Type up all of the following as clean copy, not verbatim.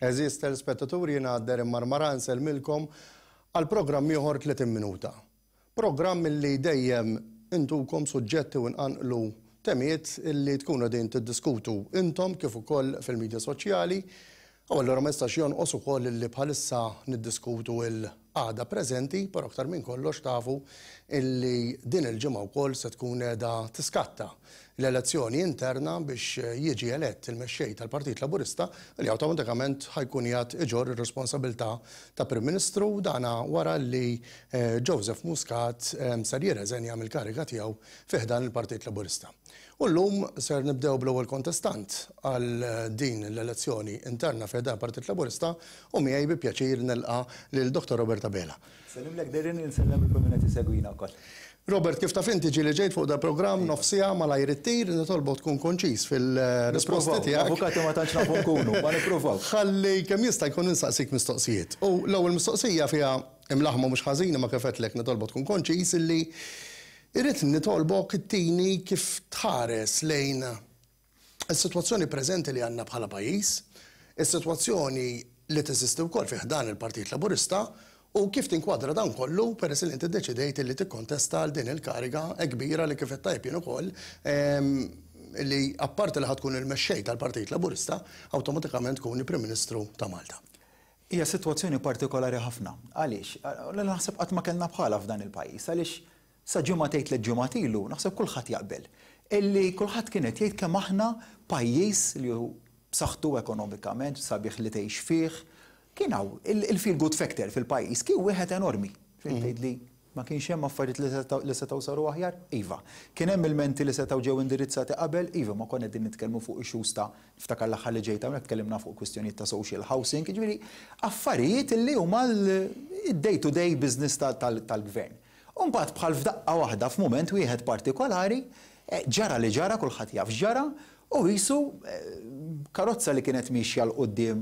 Għeżież telespettaturi jiena Darren Marmara nsellmilkom għal programm ieħor 30 minuta. Programm illi dejjem intukom suġġetti u nqanqlu temiet illi tkunu qegħdin tiddiskutu intom kif ukoll fil-midja soċjali. U allura ma jistax jonqos ukoll illi bħalissa niddiskutu l-qagħda preżenti, però aktar minn kollox tafu illi din il-ġimgħa wkoll se tkun qiegħda tiskatta l-elezzjoni interna biex jiġi elett il-mexxej tal-Partit Laburista li awtomatikament ħa jkun qiegħed iġorr ir-responsabilità ta' Prim Ministru, dana wara li Joseph Muscat ser jirreżenja mill-kariga tiegħu fi ħdan il-Partit Laburista. U llum ser nibdew bl-ewwel kontestant għal din l-elezzjoni interna fi ħdan il-Partit Laburista u miegħi bi pjaċir nilqa' lil Dottor Robert Abela. Nsellimlek Darren u nsellem lil kull min qed isegwina wkoll. Robert, kif taf inti ġieli ġejt fuq dal-programm nofs siegħa malajr ittir, nitolbok tkun konċiż fil-risposti tiegħek. Avukati ma tantx nafu nkunu, ma nippruvaw. Ħalli kemm jista' jkun insaqsik mistoqsijiet. U l-ewwel mistoqsija fiha imlaħħma mhux ħażin imma kif għedtlek nitolbok tkun konċiż illi Irrid nitolbok ittini kif tħares lejn is-sitwazzjoni preżenti li għandna bħala pajjiż, is-sitwazzjoni li teżisti wkoll fi ħdan il-Partit Laburista u kif tinkwadra dan kollu peress li inti ddeċidejt li tikkontesta għal din il-kariga hekk kbira li kif għedt tajjeb jien ukoll li apparti li ħa tkun il-mexxej tal-Partit Laburista awtomatikament tkun il-Prim Ministru ta' Malta. Hija sitwazzjoni partikolari ħafna. Għaliex? Li naħseb qatt ma kellna bħalha f'dan il-pajjiż. Għaliex sa ġimgħatejn tliet ġimgħat ilu naħseb kulħadd jaqbel illi kulħadd kien qed jgħid kemm aħna pajjiż li hu b'saħħtu ekonomikament, sabiħ li tgħix fih. Kien hawn il-feel good factor fil-pajjiż kien wieħed enormi. Trid tgħidli Ma kienx hemm affarijiet li setgħu saru aħjar? Iva. Kien hemm ilmenti li setgħu ġew indirizzati qabel? Iva, ma konna qegħdin nitkellmu fuq issues ta', niftakar l-aħħar li ġejt hawnhekk tkellimna fuq kwistjonijiet ta' social housing, jiġifieri affarijiet li huma l-day to day business tal-Gvern. U mbagħad bħal f'daqqa waħda f'mument wieħed partikolari, ġara li ġara, kulħadd jaf x'ġara, U qisu karozza li kienet miexja 'l quddiem,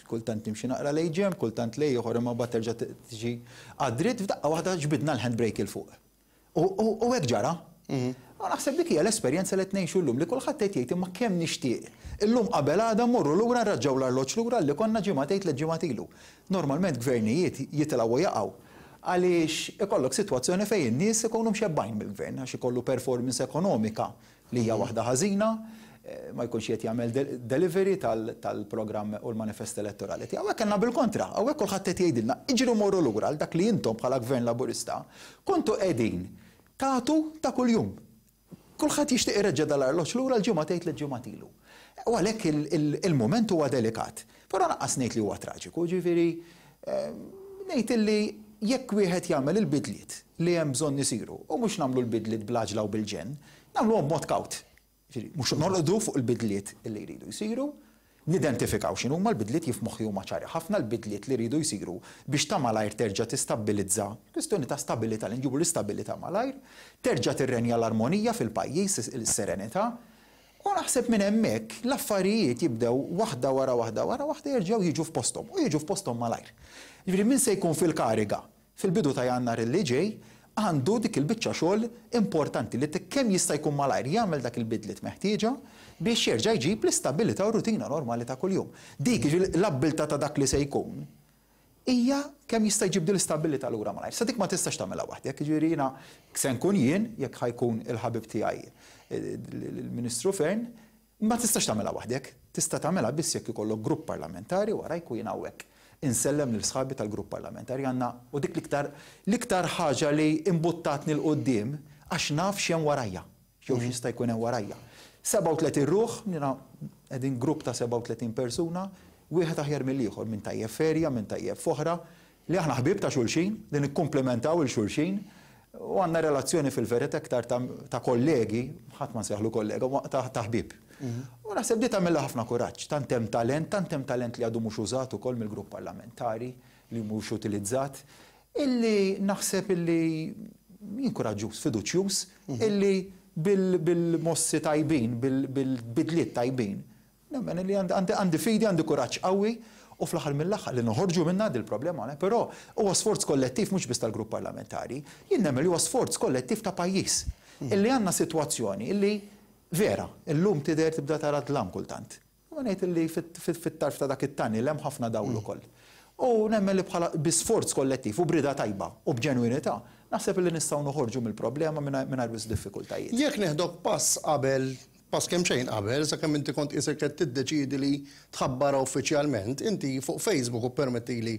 kultant timxi naqra lejn ġenb, kultant lejn ieħor imma mbagħad terġa' tiġi għad-dritt, f'daqqa waħda ġbidna l-handbrake 'il fuq. U hekk ġara. U naħseb dik hija l-esperjenza li qed ngħixu llum li kulħadd qed jgħid imma kemm nixtieq illum qabel għada mmorru lura nraġġgħu l-arloġġ lura li konna ġimgħatejn tliet ġimgħat ilu. Normalment gvernijiet jitilgħu u jaqgħu għaliex ikollok sitwazzjoni fejn in-nies ikunu mxebbgħin mill-gvern għax ikollu performance ekonomika li hija waħda ħażina, ma jkunx qiegħed jagħmel delivery tal-programm u l-manifest elettorali tiegħu. Hawnhekk kellna bil-kontra, hawnhekk kulħadd qed jgħidilna iġru morru lura għal dak li intom bħala Gvern Laburista kontu qegħdin tagħtu ta' kuljum. Kulħadd jixtieq ireġġa' dal-arloġġ lura l-ġimgħatejn tliet ġimgħat ilu. U għalhekk il-mument huwa delikat. Però lanqas ngħid li huwa traġiku, jiġifieri ngħid illi jekk wieħed jagħmel il-bidliet li hemm bżonn isiru, u mhux nagħmlu l-bidliet bl-għaġla u bil-ġenn, nagħmluhom b'mod kawt. Jiġifieri mhux norqdu fuq il-bidliet li jridu jsiru, nidentifikaw x'inhuma l-bidliet, jien f'moħħi huma ċari ħafna l-bidliet li jridu jsiru biex ta' malajr terġa' tistabbilizza, kwistjoni ta' stabilità, li nġibu l-istabilità malajr, terġa' tirrenja l-armonija fil-pajjiż, is-serenità, U naħseb minn hemmhekk l-affarijiet jibdew waħda wara waħda wara waħda jerġgħu jiġu f'posthom u jiġu f'posthom malajr. Jiġifieri min se jkun fil-kariga fil-bidu ta' Jannar li ġej għandu dik il-biċċa xogħol importanti li kemm jista' jkun malajr jagħmel dak il-bidliet meħtieġa biex jerġa' jġib l-istabilità u r-rutina normali ta' kuljum. Dik, jiġifieri l-abbiltà ta' dak li se jkun, hija kemm jista' jġib din l-istabbilità lura malajr. Sa dik ma tistax tagħmilha waħdek, jiġifieri jiena se nkun jien, jekk ħa jkun il-ħabib tiegħi l-Ministru Fearne, ma tistax tagħmilha waħdek. Tista' tagħmilha biss jekk ikollok grupp parlamentari warajk u jien hawnhekk insellem lil sħabi tal-grupp parlamentari għandna u dik l-iktar l-iktar ħaġa li imbuttatni 'l quddiem għax naf x'hemm warajja. Jew x'jista' jkun hemm warajja. 37 ruħ, jiena qegħdin grupp ta' 37 persuna, wieħed aħjar mill-ieħor, min tajjeb f'erja, min tajjeb f'oħra, li aħna ħbieb ta' xulxin, li nikkumplimentaw 'il xulxin u għandna relazzjoni fil-verità iktar ta' kollegi, ħadd ma nsejjaħlu kollega, ma ta' ħbieb. U naħseb di tagħmilha ħafna kuraġġ, tant hemm talent, tant hemm talent li għadu mhux użat ukoll mill-grupp parlamentari, li mhux utilizzat. Illi naħseb illi jien kuraġġuż, fiduċjuż, illi bil-mossi tajbin, bil-bidliet tajbin, nemmen illi għandi fidi, għandi kuraġġ qawwi u fl-aħħar mill-aħħar li noħorġu minnha dil-problema, però huwa sforz kollettiv mhux biss tal-grupp parlamentari, jien nemmen li huwa sforz kollettiv ta' pajjiż. Illi għandna sitwazzjoni illi vera, illum tidher tibda tara dlam kultant. Imma ngħid illi fit-tarf ta' dak it-tunnel hemm ħafna dawl ukoll. U nemmen li bħala bi sforz kollettiv u b'rieda tajba u b'ġenwinità, naħseb illi nistgħu noħorġu mill-problema mingħajr wisq diffikultajiet. Jekk neħdok pass qabel, pass kemxejn qabel, sakemm inti kont qisek qed tiddeċiedi li tħabbarha uffiċjalment, inti fuq Facebook, u ppermettili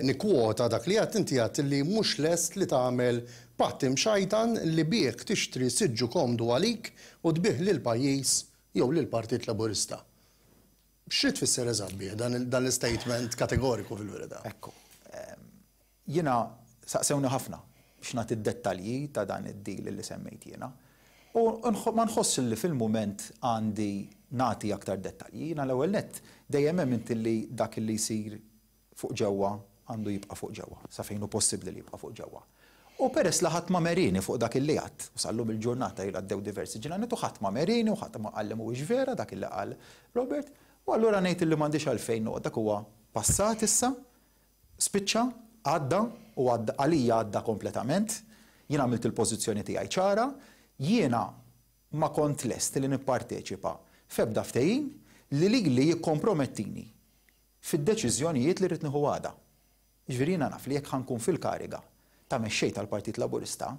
nikkwota dak li għedt, inti għedt li mhux lest li tagħmel patt imxajtan li bih tixtri siġġu komdu għalik u tbigħ lill-pajjiż jew lill-Partit Laburista. Xi tfisser eżatt bih dan l-istatement kategoriku fil-verità? Ekku. Jiena saqsewni ħafna biex nagħti d-dettalji ta' dan id-deal li semmejt jiena. U ma nħossx li fil-mument għandi nagħti aktar dettalji. Jiena l-ewwel nett dejjem emmint li dak li jsir fuq ġewwa għandu jibqa' fuq ġewwa, sa fejn hu possibbli li jibqa' fuq ġewwa. U peress li ħadd ma merini fuq dak illi għadt, u sal-lum il-ġurnata ilha għaddew diversi ġranet u ħadd ma merini u ħadd ma qalli mhuwiex vera dak illi qal Robert, u allura ngħid illi m'għandix għalfejn noqgħod, dak huwa passat issa, spiċċa, għadda u għadda għalija għadda kompletament, jien għamilt il-pożizzjoni tiegħi ċara, jiena ma kont lest li nipparteċipa f'ebda ftehim li lili jikkompromettini fid-deċiżjonijiet li rrid nieħu għada. Jiġifieri jiena naf li jekk ħa nkun fil-kariga ta' mexxej tal-Partit Laburista,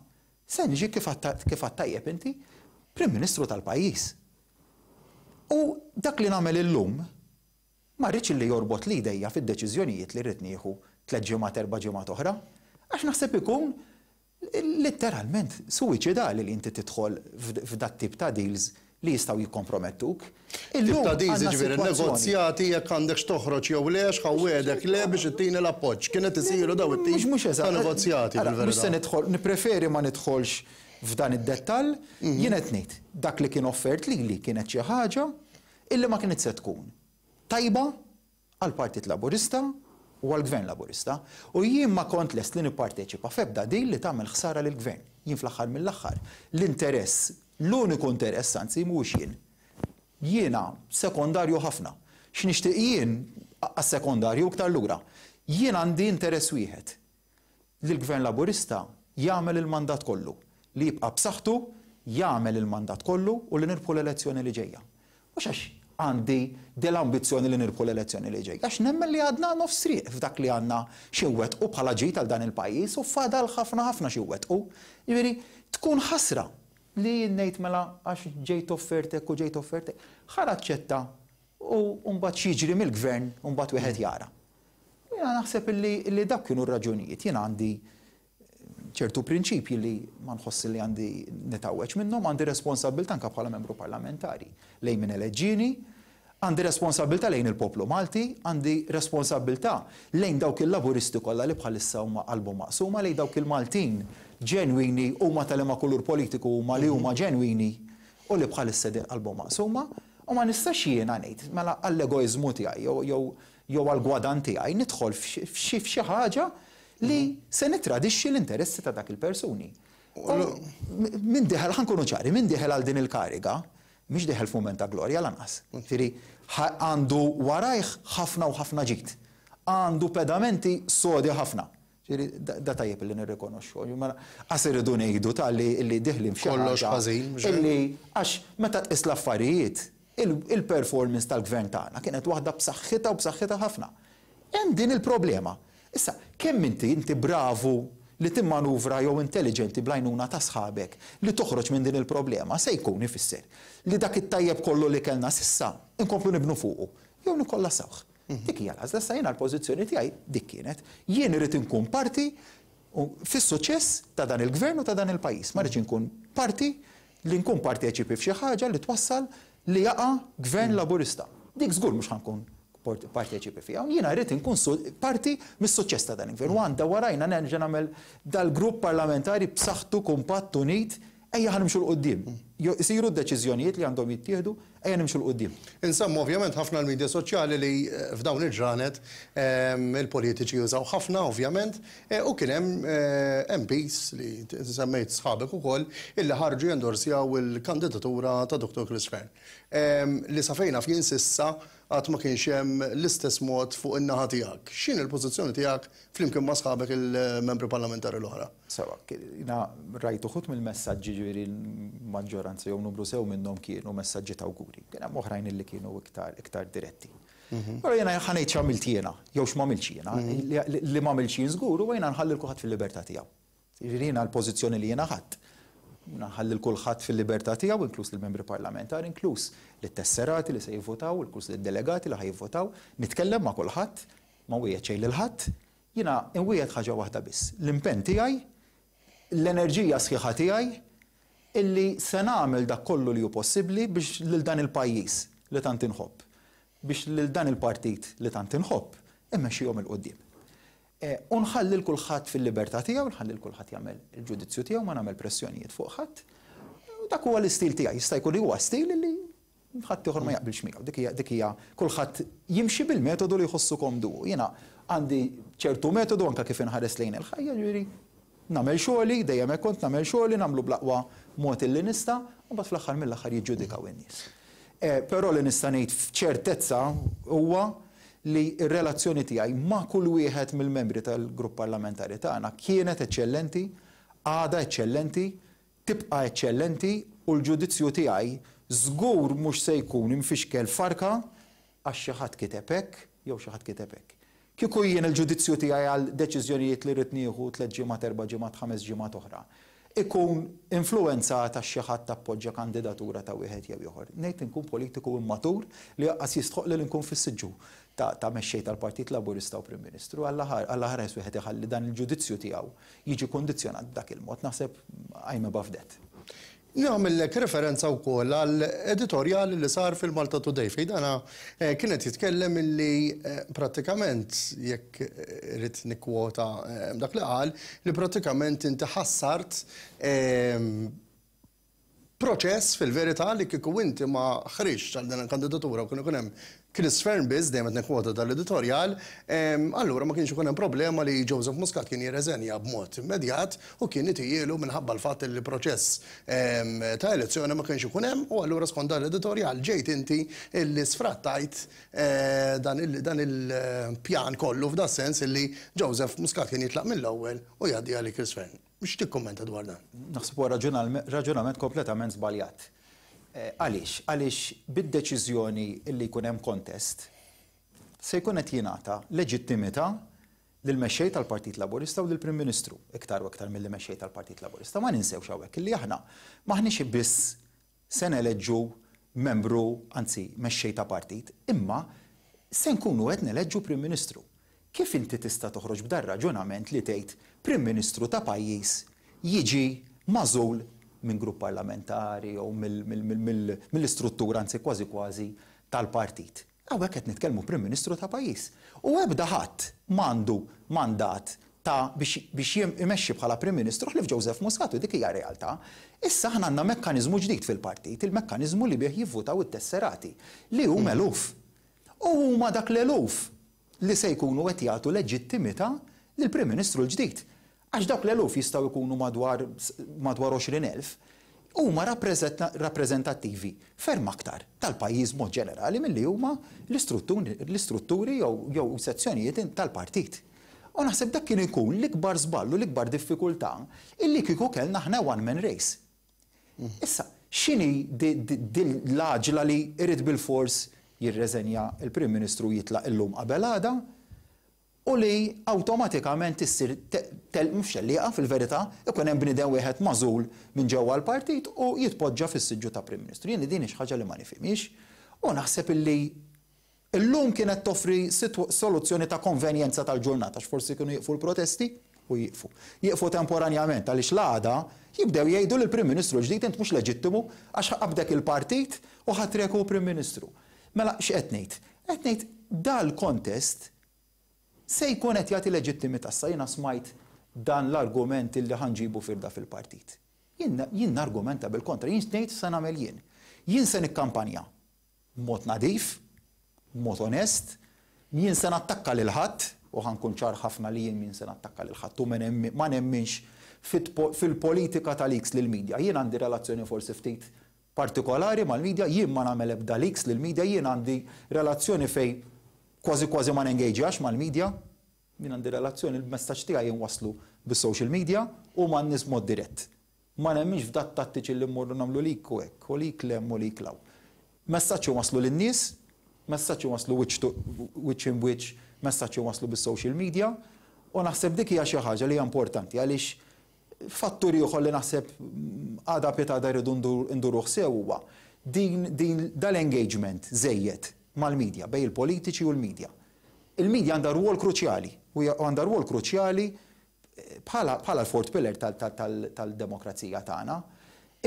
se niġi kif għedt tajjeb inti, Prim Ministru tal-pajjiż. U dak li nagħmel illum ma rridx li jorbotli jdejja fid-deċiżjonijiet li rrid nieħu tlett ġimgħat erba' ġimgħat oħra, għax naħseb ikun Litteralment suwiċidali li inti tidħol f'dat-tip ta' deals li jistgħu jikkompromettuk. Tip ta' deals jiġifieri negozjati jekk għandekx toħroġ jew le, x'ħa wegħdek le biex ittini l-appoġġ. Kien qed isiru dawn it-tip ta' negozjati fil-verità. Mhux se nidħol, nippreferi ma nidħolx f'dan id-dettall. Jien qed ngħid, dak li kien offert lili kienet xi ħaġa illi ma kinitx se tkun tajba għall-Partit Laburista u għall-Gvern Laburista u jien ma kont lest li nipparteċipa f'ebda deal li tagħmel ħsara lill-Gvern. Jien fl-aħħar mill-aħħar, l-interess, l-uniku interess anzi mhuwiex jien. Jiena sekondarju ħafna. X'nixtieq jien, aqqas sekondarju iktar lura. Jien għandi interess wieħed, li l-Gvern Laburista jagħmel il-mandat kollu, li jibqa' b'saħħtu, jagħmel il-mandat kollu u li nirbħu l-elezzjoni li ġejja. Mhux għax għandi dil-ambizzjoni li nirbħu l-elezzjoni li ġejja, għax nemmen li għadna nofs triq f'dak li għandna xi nwettqu bħala ġid għal dan il-pajjiż u fadal ħafna ħafna xi nwettqu. Jiġifieri tkun ħasra li jien ngħid mela għax ġejt offert hekk u ġejt offert hekk, ħa naċċetta u mbagħad x'jiġri mill-Gvern mbagħad wieħed jara. Jiena naħseb illi dawk kienu r-raġunijiet. Jiena għandi ċertu prinċipji li ma nħoss li għandi nitgħawweġ minnhom, għandi responsabbiltà anke bħala membru parlamentari lejn min eleġġieni, għandi responsabbiltà lejn il-poplu Malti, għandi responsabbiltà lejn dawk il-Laburisti kollha li bħalissa huma qalbhom maqsuma, lejn dawk il-Maltin ġenwini huma ta' liema kulur politiku huma li huma ġenwini u li bħalissa qegħdin qalbhom maqsuma u ma nistax jiena ngħid mela għall-egoiżmu tiegħi jew jew jew għall-gwadann tiegħi nidħol f'xi ħaġa li se nittradixxi l-interessi ta' dak il-persuni. U min dieħel, ħa nkunu ċari, min dieħel għal din il-kariga, mhix dieħel f'mument ta' glorja lanqas. Jiġifieri għandu warajh ħafna u ħafna ġid. Għandu pedamenti sodi ħafna. Ġifieri da tajjeb li nirrikonoxxu. Mela qas irridu ngħidu ta' li dieħlin f'xi ħaġa. Kollox ħażin, mhux hekk? Illi għax meta tqis l-affarijiet, il-performance tal-Gvern tagħna kienet waħda b'saħħitha u b'saħħitha ħafna. Hemm din il-problema. Issa, kemm inti inti bravu li timmanuvra jew intelliġenti bl-għajnuna ta' sħabek li toħroġ minn din il-problema se jkun ifisser li dak it-tajjeb kollu li kellna s'issa nkomplu nibnu fuqu jew nikkollassawh. Dik hija l-għażla. Issa jiena l-pożizzjoni tiegħi dik kienet. Jien irrid inkun parti fis-suċċess ta' dan il-Gvern u ta' dan il-pajjiż. Ma rridx inkun parti li nkun parteċipi f'xi ħaġa li twassal li jaqa' Gvern Laburista. Dik żgur mhux ħa nkun parteċipi fiha. Jiena rrid inkun parti mis-suċċess ta' dan il-Gvern u għandha warajna nerġa' nagħmel dal-grupp parlamentari b'saħħtu, kumpatt, unit, Ejja ħa nimxu 'l quddiem. Isiru d-deċiżjonijiet li għandhom jittieħdu, ejja nimxu 'l quddiem. Insemmu ovvjament ħafna l-media soċjali li f'dawn il-ġranet il-politiċi jużaw ħafna ovvjament u kien hemm MPs li semmejt sħabek ukoll illi ħarġu jendorsjaw il-kandidatura ta' Dottor Chris Fearne. Li sa fejn naf jien s'issa. għad ma kienx hemm l-istess mod fuq in-naħa tiegħek. X'inhi l-pożizzjoni tiegħek flimkien ma' sħabek il-membri parlamentari l-oħra? Sewwa, jiena rajt uħud mill-messaġġi ġifieri l-maġġoranza jew numru sew minnhom kienu messaġġi ta' awguri. Kien hemm oħrajn illi kienu iktar iktar diretti. Però jiena ħa ngħid x'għamilt jiena jew x'm'għamiltx jiena. Li m'għamiltx jien żgur huwa jiena nħalli 'l kulħadd fil-libertà tiegħu. Jiġifieri jiena l-pożizzjoni li jiena ħadt, nħalli 'l kulħadd fil-libertà tiegħu, inkluż lill-membri parlamentari, inkluż lit-tesserati li se jivvutaw, inkluż lid-delegati li ħa jivvutaw, nitkellem ma' kulħadd, ma nwiegħed xejn lil ħadd, jiena nwiegħed ħaġa waħda biss, l-impenn tiegħi, l-enerġija sħiħa tiegħi illi se nagħmel dak kollu li hu possibbli biex lil dan il-pajjiż li tant inħobb, biex lil dan il-partit li tant inħobb immexxihom 'il quddiem. U nħalli 'l kulħadd fil-libertà tiegħu, nħalli 'l kulħadd jagħmel il-ġudizzju tiegħu, ma nagħmel pressjonijiet fuq ħadd. U dak huwa l-istil tiegħi. Jista' jkun li huwa stil li ħaddieħor ma jaqbilx miegħu. Dik hija dik hija kulħadd jimxi bil-metodu li jħossu komdu hu. Jiena għandi ċertu metodu anke kif inħares lejn il-ħajja, jiġifieri nagħmel xogħli, dejjem hekk kont nagħmel xogħli, nagħmlu bl-aqwa mod illi nista', u mbagħad fl-aħħar mill-aħħar jiġġudikaw in-nies. Però li nista' ngħid f'ċertezza huwa li r-relazzjoni tiegħi ma' kull wieħed mill-membri tal-grupp parlamentari tagħna kienet eċċellenti, għadha eċċellenti, tibqa' eċċellenti u l-ġudizzju tiegħi żgur mhux se jkun imfixkel farka għax xi ħadd kiteb hekk jew xi ħadd kiteb hekk. Kieku jien il-ġudizzju tiegħi għal deċiżjonijiet li rrid nieħu tlett ġimgħat, erba' ġimgħat, ħames ġimgħat oħra, ikun influwenzat għax xi ħadd appoġġja kandidatura ta' wieħed jew ieħor. Ngħid inkun politiku immatur li aqqas jistħoqqli li nkun fis-siġġu ta' mexxej tal-Partit Laburista u Prim Ministru. Alla ħares wieħed iħalli dan il-ġudizzju tiegħu jiġi kundizzjonat b'dak il-mod. Naħseb I'm above that. Nagħmillek referenza wkoll għal editorjal li sar fil-Malta Today fejn dana kien qed jitkellem illi prattikament, jekk irrid nikkwota dak li qal, li prattikament inti ħassart proċess fil-verità li kieku inti ma ħriġtx għal din il-kandidatura u kien ikun hemm Chris Fearne biss, dejjem qed nikkwota dal-editorjal, allura ma kienx ikun hemm problema li Joseph Muscat kien jirreżenja b'mod immedjat u kien itijielu minħabba l-fatt li proċess ta' elezzjoni ma kienx ikun hemm u allura skont dan l-editorjal ġejt inti illi sfrattajt dan il-pjan kollu f'das-sens illi Joseph Muscat kien jitlaq mill-ewwel u jgħaddi għalih Chris Fearne. X'tikkummenta dwar dan? Naħseb huwa raġunament kompletament żbaljat. Għaliex? Għaliex bid-deċiżjoni li jkun hemm contest se jkun qed jingħata leġittimità lill-Mexxej tal-Partit Laburista u lill-Prim Ministru, iktar u iktar milli Mexxej tal-Partit Laburista. Ma ninsewx hawnhekk illi aħna m'aħniex biss se neleġġu membru, anzi mexxej ta' partit, imma se nkunu qed neleġġu Prim Ministru. Kif inti tista' toħroġ b'dar-raġunament li tgħid Prim Ministru ta' pajjiż jiġi magħżul minn grupp parlamentari jew mill-istruttura, anzi kważi kważi, tal-partit? Hawnhekk qed nitkellmu Prim Ministru ta' pajjiż. U ebda ħadd m'għandu mandat ta' biex biex imexxi bħala Prim Ministru ħlief Joseph Muscat u dik hija realtà. Issa aħna għandna mekkaniżmu ġdid fil-partit, il-mekkaniżmu li bih jivvutaw it-tesserati, li huma eluf. U huma dak l-eluf li se jkunu qed jagħtu leġittimità lill-Prim Ministru l-ġdid. Għax dawk l-eluf jistgħu jkunu madwar madwar 20,000, huma rappreżentattivi ferm aktar tal-pajjiż b'mod ġenerali milli huma l-istrutturi jew sezzjonijiet tal-partit. U naħseb dak kien ikun l-ikbar żball u l-ikbar diffikultà illi kieku kellna aħna one man race. Issa, x'inhi din l-għaġla li jrid bilfors jirreżenja l-Prim Ministru u jitlaq illum qabel għada u li awtomatikament issir mhux tellieqa fil-verità, ikun hemm bniedem wieħed magħżul minn ġewwa l-partit u jitpoġġa fis-siġġu ta' Prim Ministru. Jien din hi xi ħaġa li ma nifhimhiex u naħseb illi Illum kienet toffri soluzzjoni ta' konvenjenza tal-ġurnata għax forsi kienu jieqfu l-protesti u jieqfu. Jieqfu temporanjament għaliex l-għada jibdew jgħidu lill-Prim Ministru l-ġdid int mhux leġittimu għax qabdek il-partit u ħatrek hu Prim Ministru. Mela x'qed ngħid? Qed ngħid dal-kontest se jkun qed jagħti leġittimità. Issa jiena smajt dan l-argument illi ħa nġibu firda fil-partit. Jien jien nargumenta bil-kontra, jien ngħid x'se nagħmel jien. Jien se nikkampanja b'mod nadif, b'mod onest, m'jien se nattakka lil ħadd, u ħa nkun ċar ħafna li jien m'jien se nattakka lil ħadd u ma nemminx fil-politika ta' leaks lill-media. Jien għandi relazzjoni forsi ftit. partikolari mal-media, jien ma nagħmel ebda leaks lill-media, jien għandi relazzjoni fejn kważi kważi ma nengagejax mal-media, jien għandi relazzjoni l-messaġġ tiegħi nwasslu bis-social media u man-nies b'mod dirett. Ma nemminx f'dat-tattiċi li mmorru nagħmlu leak u hekk, u leak 'l hemm u leak 'l hawn. Messaġġ inwasslu lin-nies, messaġġ inwasslu wiċċ to wiċċ imb wiċċ, messaġġ inwasslu bis-social media u naħseb dik hija xi ħaġa li hija importanti għaliex fattur ieħor li naħseb għada pitgħada rridu nduruh sew huwa din din dal-engagement żejjed mal-media, bejn il-politiċi u l-media. Il-media għandha rwol kruċjali u għandha rwol kruċjali bħala bħala l-fourth pillar tal-demokrazija tagħna.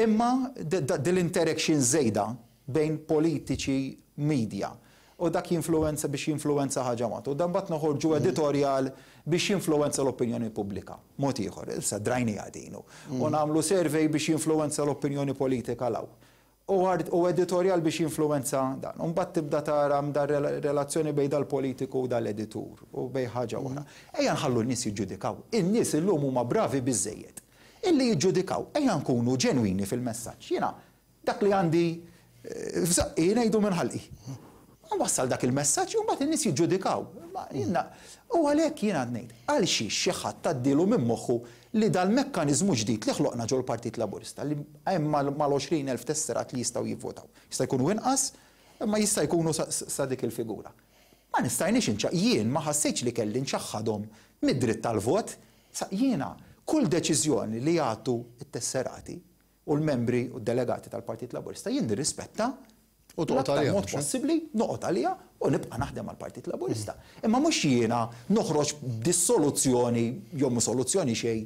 Imma din l-interaction żejda bejn politiċi, media u dak jinfluwenza biex jinfluwenza ħaġa mod u dan mbagħad noħorġu editorjal biex jinfluwenza l-opinjoni pubblika. Mod ieħor, issa drajniha din u nagħmlu survey biex jinfluwenza l-opinjoni politika 'l hawn. U editorjal biex jinfluwenza dan. U mbagħad tibda tara dar relazzjoni bejn dal-politiku u dal-editur u bejn ħaġa oħra. Ejja nħallu n-nies jiġġudikaw. In-nies illum huma bravi biżżejjed illi jiġġudikaw. Ejja nkunu ġenwini fil-messaġġ. Jiena dak li għandi f'żaqqi ngħidu minn ħalqi. Nwassal dak il-messaġġ u mbagħad in-nies jiġġudikaw. U għalhekk jiena ngħid, għal xiex xi ħadd tgħaddilu minn moħħu li dal-mekkaniżmu ġdid li ħloqna ġol-Partit Laburista li hemm mal-20,000 tesserat li jistgħu jivvotaw. Jista' jkunu inqas, imma jista' jkunu sa dik il-figura. Ma nistajniex inċa jien ma ħassejtx li kelli nċaħħadhom mid-dritt tal-vot. Sa jiena kull deċiżjoni li jagħtu t-tesserati u l-membri u d-delegati tal-Partit Laburista jien nirrispetta U toqgħod l-aktar għaliha, mod mhux possibbli, noqgħod għaliha u nibqa' naħdem għall-Partit Laburista. Imma mhux jiena noħroġ b'dis-soluzzjoni jew mhu soluzzjoni xejn,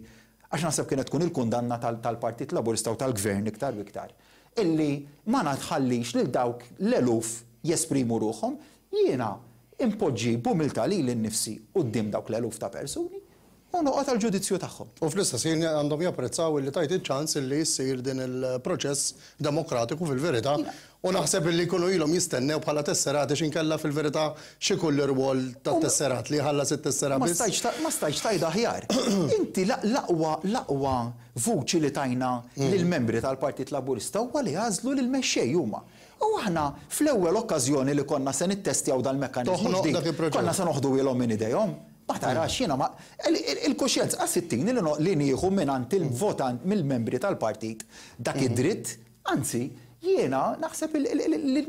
għax naħseb kienet tkun il-kundanna tal-Partit Laburista u tal-Gvern iktar u iktar, illi ma nħallix lil dawk l-eluf jesprimu ruħhom. Jiena inpoġġi b'umiltà lili nnifsi quddiem dawk l-eluf ta' persuni u noqgħod għall-ġudizzju tagħhom. U fl-istess ħin għandhom japprezzaw illi tajt iċ-ċans illi jsir din il-proċess demokratiku fil-verità u naħseb illi jkunu ilhom jistennew bħala tesserati x'inkella fil-verità x'ikun l-irwol tat-tesserat li jħallas it-tessera Ma biss. stajtx ma stajtx tgħid aħjar. Inti l-aqwa l-aqwa vuċi li tajna lill-membri tal-Partit Laburista huwa li għażlu lill-mexxej huma. U aħna fl-ewwel okkażjoni li konna se nittestjaw dal-mekkaniżmu Toħnoq ġdid, dak il-proċess. konna se noħduhielhom minn idejhom. Ma tarax jiena ma il-kuxjenza qas ittini li nieħu mingħand il-votant mill-membri tal-partit dak id-dritt, anzi jiena naħseb li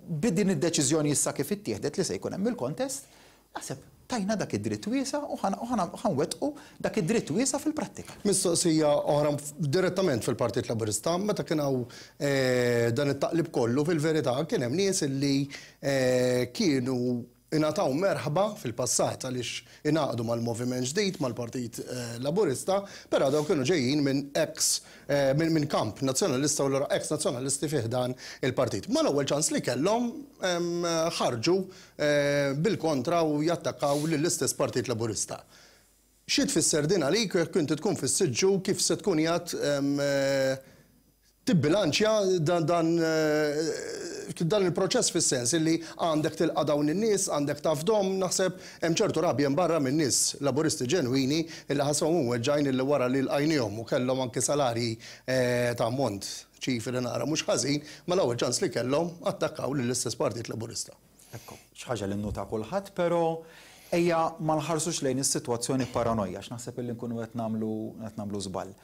b'din id-deċiżjoni issa kif ittieħdet li se jkun hemm il-contest, naħseb tajna dak id-dritt wiesa' u ħa nwettqu dak id-dritt wiesa' fil-prattika. Mistoqsija oħra direttament fil-Partit Laburista, meta kien hawn dan it-taqlib kollu fil-verità kien hemm nies illi kienu ingħataw merħba fil-passat għaliex ingħaqdu mal-Moviment Ġdid, mal-Partit Laburista, però dawn kienu ġejjin minn ex minn kamp nazzjonalista u allura ex nazzjonalisti fi ħdan il-partit. Mal-ewwel ċans li kellhom ħarġu bil-kontra u jattakkaw lill-istess Partit Laburista. Xi tfisser din għalik jekk inti tkun fis-siġġu kif se tkun qiegħed tibbilanċja dan dan dan il-proċess fis-sens illi għandek tilqa' dawn in-nies, għandek tafdhom, naħseb hemm ċertu rabja hemm barra minn nies Laburisti ġenwini illi ħassewhom imweġġgħin illi wara li lqajniehom u kellhom anki salarji ta' ammont ċifri li naqra mhux ħażin, mal-ewwel ċans li kellhom attakkaw lill-istess Partit Laburista. Ekku, xi ħaġa li nnota kulħadd, però ejja ma nħarsux lejn is-sitwazzjoni b'paranoja għax naħseb illi nkunu qed nagħmlu qed nagħmlu żball.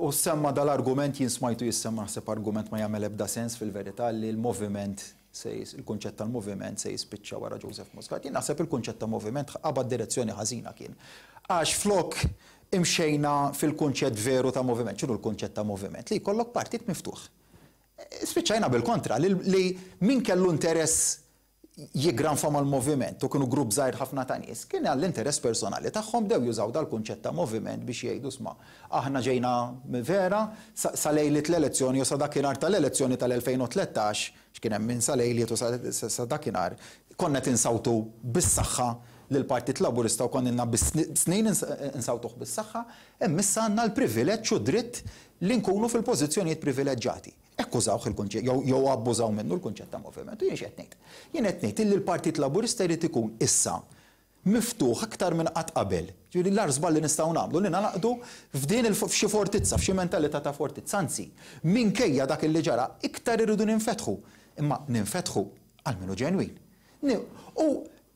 U semma dal-argument, jien smajtu jissemma naħseb argument ma jagħmel ebda sens fil-verità li l-moviment se il-kunċett tal-moviment se jispiċċa wara Joseph Muscat. Jien naħseb il-kunċett ta' moviment qabad direzzjoni ħażina kien. Għax flok imxejna fil-kunċett veru ta' moviment, x'inhu l-kunċett ta' moviment? Li jkollok partit miftuħ. Spiċċajna bil-kontra, li min kellu interess jiggranfa mal-moviment u kienu grupp żgħir ħafna ta' nies, kien għall-interess personali tagħhom bdew jużaw dal-kunċett ta' moviment biex jgħidu sma' aħna ġejna vera sa lejliet l-elezzjoni u sa dakinhar tal-elezzjoni tal-2013, x'kien hemm minn sa lejliet u sa dakinhar, konna qed insawtu bis-saħħa lill-Partit Laburista u konna ilna snin insawtuh bis-saħħa, imma issa għandna l-privileġġ u d-dritt li nkunu fil-pożizzjonijiet privileġġati. Hekk użawh il-kunċett, jew abbużaw minnu l-kunċett ta' moviment. U jien x'qed ngħid? Jien qed ngħid illi l-Partit Laburista jrid ikun issa miftuħ aktar minn qatt qabel. Ġifieri l-agħar żball li nistgħu nagħmlu li ningħaqdu f'din il f'xi fortizza, f'xi mentalità ta' fortizza. Anzi, minkejja dak li ġara, iktar irridu ninfetħu. Imma ninfetħu għal min hu ġenwin. U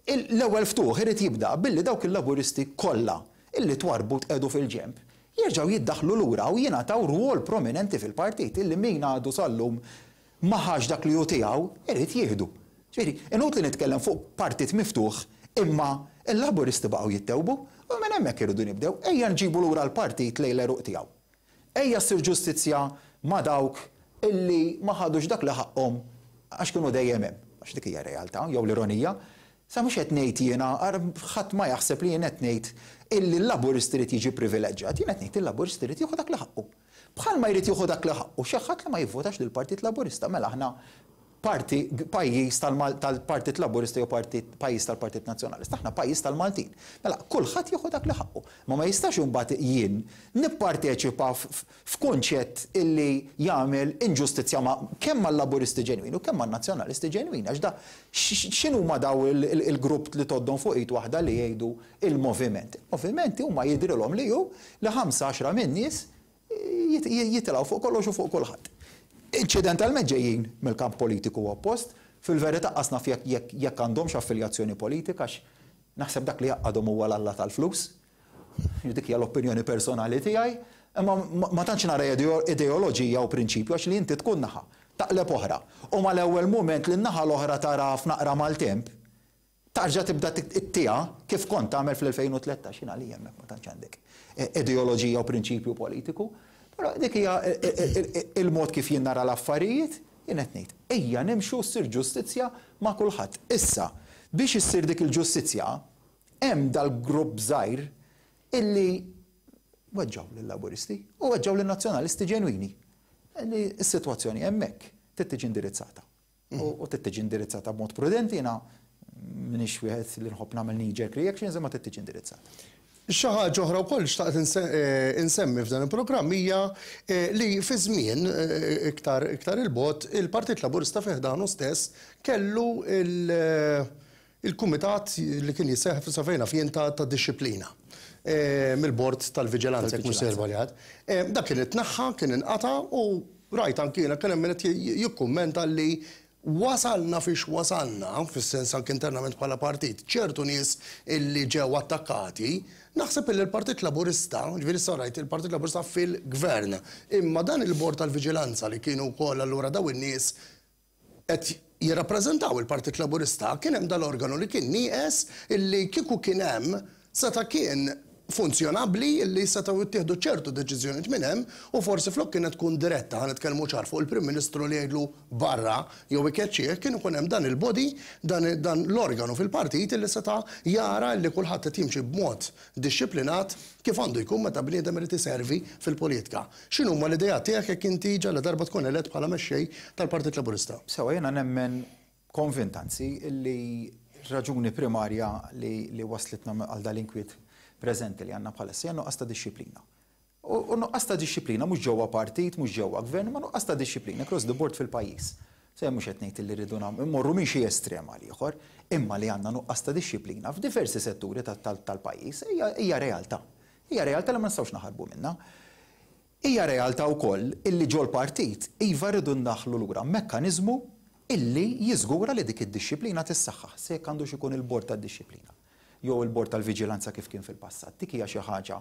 l-ewwel ftuħ irid jibda billi dawk il-Laburisti kollha illi twarrbu u tqiegħdu fil-ġenb, jerġgħu jiddaħħlu lura u jingħataw rwol prominenti fil-partit illi min għadu sal-lum ma ħax dak li hu tiegħu, irid jieħdu. Ġifieri, inutli nitkellem fuq partit miftuħ imma l-Laburisti baqgħu jittewbu u minn hemmhekk irridu nibdew. Ejja nġibu lura l-partit lejn l-għeruq tiegħu. Ejja ssir ġustizzja ma' dawk illi ma ħadux dak li ħaqqhom għax kienu dejjem hemm. Għax dik hija r-realtà, jew l-ironija. Sa mhux qed ngħid jiena, ħadd ma jaħseb li jien qed ngħid illi l-Laburist irid jiġi privileġġjat, jien qed ngħid il-Laburist irid jieħu dak li ħaqqu. Bħalma jrid jieħu dak li ħaqqu xi ħadd li ma jivvotax lill-Partit Laburista, mela aħna parti pajjiż tal-Partit Laburista jew partit pajjiż tal-Partit Nazzjonalista, aħna pajjiż tal-Maltin. Mela kulħadd jieħu dak li ħaqqu. Ma ma jistax imbagħad jien nipparteċipa f'kunċett illi jagħmel inġustizzja ma' kemm mal-Laburisti ġenwini u kemm man-Nazzjonalisti ġenwini għax da x'inhuma daw il-grupp li tgħoddhom fuq id waħda li jgħidu il-moviment. Il-movimenti huma jidhrilhom li hu li ħamsa għaxra min-nies jitilgħu fuq kollox u fuq kulħadd. Inċidentalment ġejjin mill-kamp politiku oppost, fil-verità qas naf jekk jekk għandhomx affiljazzjoni politika għax naħseb dak li jgħaqqadhom huwa l-alla tal-flus. Dik hija l-opinjoni personali tiegħi, imma ma tantx nara ideoloġija u prinċipju għax li inti tkun naħa, taqleb oħra. U mal-ewwel mument li n-naħa l-oħra tara f'naqra maltemp, Tarġa' tibda ttiha kif kont tagħmel fl-2013, jien għalija hemmhekk ma tantx għandek ideoloġija u prinċipju politiku, però dik hija il-mod kif jien nara l-affarijiet, jien qed ngħid, ejja nimxu ssir ġustizzja ma' kulħadd. Issa, biex issir dik il-ġustizzja, hemm dal-grupp żgħir illi weġġgħu lil-Laburisti u weġġgħu lin-Nazzjonalisti ġenwini. Li s-sitwazzjoni hemmhekk trid tiġi indirizzata. U trid tiġi indirizzata b'mod prudenti, jiena m'iniex wieħed li nħobb nagħmel knee jerk reactions imma trid tiġi indirizzata. Xi ħaġa oħra wkoll xtaqt insemmi f'dan il-programm hija li fi żmien iktar iktar 'il bogħod il-Partit Laburista fi ħdanu stess kellu il-kumitat li kien jisseħħ sa fejn naf jien ta' dixxiplina mill-Bord tal-Viġilanza jekk mhux sejjer żbaljat. Dak kien itneħħa, kien inqata' u rajt anki jiena kien hemm min qed jikkummenta li wasalna fiex wasalna, fis-sens anki internament bħala partit, ċertu nies illi ġew attakkati, naħseb illi l-Partit Laburista, ġifieri issa rajt il-Partit Laburista fil-Gvern, imma dan il-Bord tal-Viġilanza li kienu wkoll allura dawn in-nies qed jirrappreżentaw il-Partit Laburista, kien hemm dal-organu li kien nieqes illi kieku kien hemm seta' kien funzjonabbli illi setgħu jittieħdu ċertu deċiżjonijiet minn hemm u forsi flok kienet tkun diretta, ħa nitkellmu ċar, fuq il-Prim Ministru li jgħidlu barra jew ikeċċih, kien ikun hemm dan il-body, dan dan l-organu fil-partit illi seta' jara illi kulħadd qed jimxi b'mod dixxiplinat kif għandu jkun meta bniedem irid iservi fil-politika. X'inhuma l-ideat tiegħek jekk inti ġaladarba tkun elett bħala mexxej tal-Partit Laburista? Sewwa, jiena nemmen, konvint anzi, li r-raġuni primarja li wasslitna għal dal-inkwiet preżenti li għandna bħalissa hija n-nuqqas ta' dixxiplina. U nuqqas ta' dixxiplina mhux ġewwa partit, mhux ġewwa gvern, imma nuqqas ta' dixxiplina across the board fil-pajjiż. Se jien mhux qed ngħid li rridu mmorru minn xi estrem għal ieħor, imma li għandna nuqqas ta' dixxiplina f'diversi setturi tal-pajjiż hija realtà. Hija realtà li ma nistgħux naħarbu minnha. Hija realtà wkoll illi ġol-partit iva rridu ndaħħlu lura mekkaniżmu illi jiżgura li dik id-dixxiplina tissaħħaħ, se jekk għandux ikun il-Bord tad-Dixxiplina jew il-Bord tal-Viġilanza kif kien fil-passat. Dik hija xi ħaġa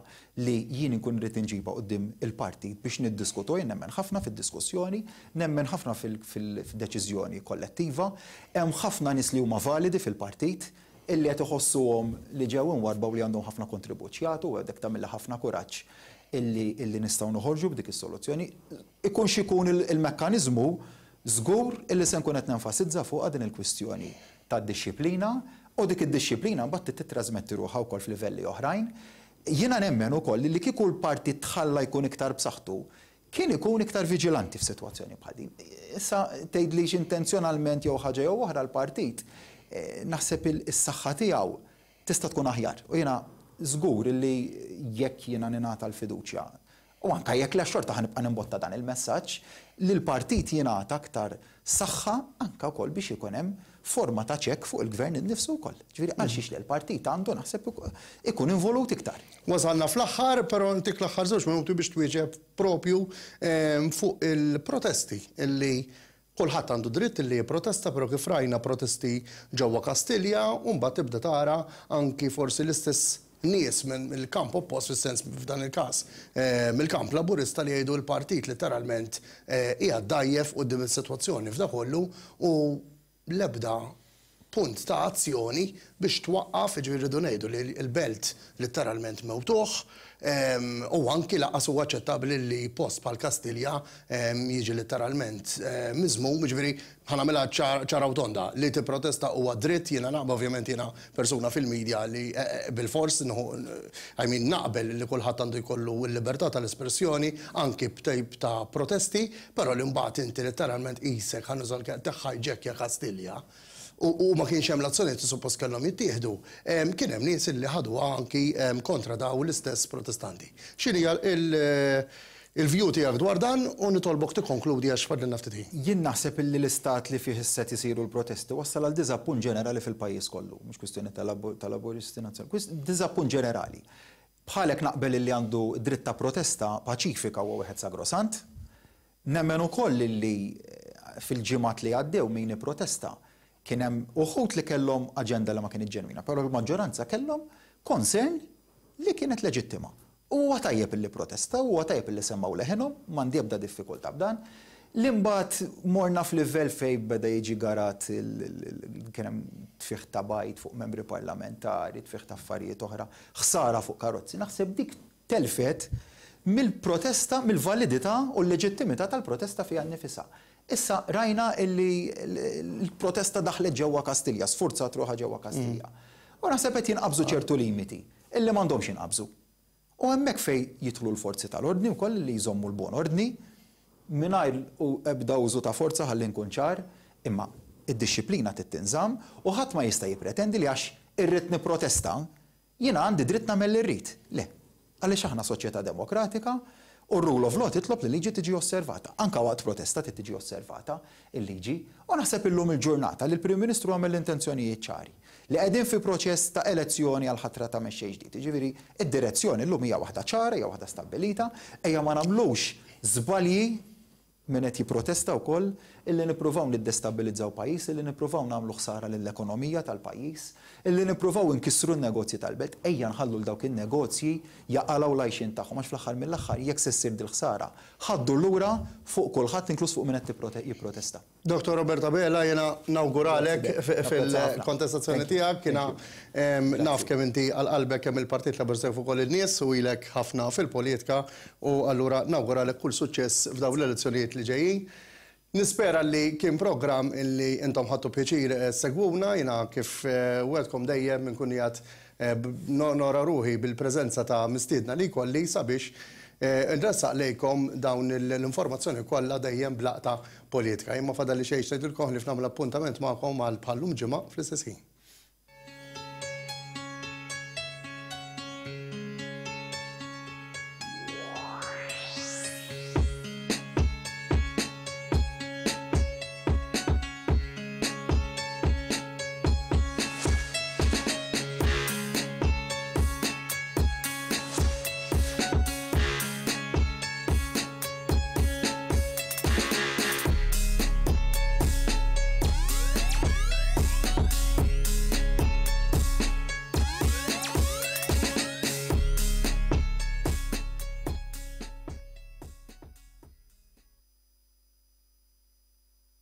li jien inkun irrid inġibha quddiem il-partit biex niddiskutuha. Jien nemmen ħafna fid-diskussjoni, nemmen ħafna fil-deċiżjoni kollettiva. Hemm ħafna nies li huma validi fil-partit, illi qed iħossuhom li ġew imwarrba u li għandhom ħafna kontribut x'jagħtu u hekk tagħmilli ħafna kuraġġ illi illi nistgħu noħorġu b'dik is-soluzzjoni. Ikun x'ikun il-mekkaniżmu, żgur illi se nkun qed nenfasizza fuqha din il-kwistjoni tad-dixxiplina u dik id-dixxiplina mbagħad trid tittrażmetti ruħha wkoll f'livelli oħrajn. Jiena nemmen ukoll li kieku l-partit tħalla jkun iktar b'saħħtu, Kien ikun iktar viġilanti f'sitwazzjoni bħal din. Issa tgħidlix intenzjonalment jew ħaġa jew oħra l-partit naħseb is-saħħa tiegħu tista' tkun aħjar. U jiena żgur li jekk jiena ningħata l-fiduċja. U anke jekk le xorta ħa nibqa' nimbotta dan il-messaġġ, li l-partit jingħata aktar saħħa anke wkoll biex ikun hemm forma ta' check fuq il-Gvern innifsu wkoll. Ġifieri għalxiex le l-partit għandu naħseb ikun involut iktar. Wasalna fl-aħħar, però ntik l-aħħar żewġ minuti biex twieġeb propju fuq il-protesti illi kulħadd għandu dritt illi jipprotesta, però kif rajna protesti ġewwa Kastilja u mbagħad tibda tara anki forsi l-istess nies mill-kamp oppost, fis-sens f'dan il-każ mill-kamp Laburista li jgħidu l-partit litteralment qiegħed dgħajjef quddiem is-sitwazzjoni f'da kollu u l-ebda punt ta' azzjoni biex twaqqaf, jiġifieri rridu ngħidu li l-Belt litteralment mewtuh, u anki lanqas huwa aċċettabbli li post bħal Kastilja jiġi litteralment miżmum, jiġifieri ħa nagħmilha ċara u tonda, li tipprotesta huwa dritt, jiena naqbel, ovvjament jiena persuna fil-media li bilfors nieħu, I mean naqbel li kulħadd għandu jkollu l-libertà tal-espressjoni anki b'tip ta' protesti, però li mbagħad inti litteralment qisek, ħa nuża l-kelma, tiħħajġekkja Kastilja u ma kienx hemm l-azzjonijiet li suppost kellhom jittieħdu, kien hemm nies li ħaduha anki kontra dawn l-istess protestanti. X'inhija l-view tiegħek dwar dan u nitolbok tikkonkludi għax fadlilna ftit ħin. Jien naħseb illi l-istat li fih issa qed isiru l-protesti wassal għal diżappunt ġenerali fil-pajjiż kollu, mhux kwistjoni ta' Laburisti, Nazzjonalisti, diżappunt ġenerali. Bħalek naqbel illi għandu dritt ta' protesta paċifika huwa wieħed sagrosant. Nemmen ukoll illi fil-ġimgħat li għaddew min ipprotesta kien hemm uħud li kellhom aġenda li ma kinitx ġenwina, però l-maġġoranza kellhom concern li kienet leġittima. U huwa tajjeb illi pprotestaw, huwa tajjeb illi semmgħu leħinhom, m'għandi ebda diffikultà b'dan. Li mbagħad morna f'livell fejn beda jiġi garat kien hemm tfigħ ta' bajd fuq membri parlamentari, tfigħ ta' affarijiet oħra, ħsara fuq karozzi, naħseb dik telfet mill-protesta, mill-validità u l-leġittimità tal-protesta fiha nnifisha. Issa rajna illi l-protesta daħlet ġewwa Kastilja, sfurzat ruħha ġewwa Kastilja. U naħseb qed jinqabżu ċertu limiti illi m'għandhomx jinqabżu. U hemmhekk fejn jidħlu l-forzi tal-ordni wkoll li jżommu l-buon ordni, mingħajr ebda użu ta' forza ħalli nkun ċar, imma d-dixxiplina trid tinżamm u ħadd ma jista' jippretendi li għax irrid nipprotesta, jiena għandi dritt nagħmel li rrid. Le. Għaliex aħna soċjetà demokratika u r-rule of law titlob li l-liġi tiġi osservata. Anke waqt protesta trid tiġi osservata l-liġi. U naħseb illum il-ġurnata li l-Prim Ministru għamel l-intenzjonijiet ċari. Li qegħdin fi proċess ta' elezzjoni għall-ħatra ta' mexxej ġdid. Jiġifieri d-direzzjoni llum hija waħda ċara, hija waħda stabbilita. Ejja ma nagħmlux żbalji min qed jipprotesta wkoll illi nippruvaw niddestabbilizzaw pajjiż, illi nippruvaw nagħmlu ħsara lill-ekonomija tal-pajjiż, illi nippruvaw inkissru n-negozji tal-belt, ejja nħallu 'l dawk in-negozji jaqalgħu l-għajxien tagħhom għax fl-aħħar mill-aħħar jekk se ssir dil-ħsara ħa ddur lura fuq kulħadd inkluż fuq min qed jipprotesta. Dottor Robert Abela, jiena nawguralek fil-kontestazzjoni tiegħek. Jiena naf kemm inti għal qalbek kemm il-Partit Laburista kif ukoll in-nies u ilek ħafna fil-politika u allura nawguralek kull suċċess f'dawn l-elezzjonijiet li ġejjin. Nispera li kien programm illi intom ħadtu pjaċir ssegwuna. Jiena kif wegħdtkom dejjem inkun qiegħed Nonora ruħi bil-preżenza ta' mistiedna li jkolli sabiex nressaq lejkom dawn l-informazzjoni kollha dejjem b'laqta politika. Jien ma fadalli xejn x'ngħidilkom ħlief nagħmel appuntament magħkom għal bħal-lum ġimgħa fl-istess ħin.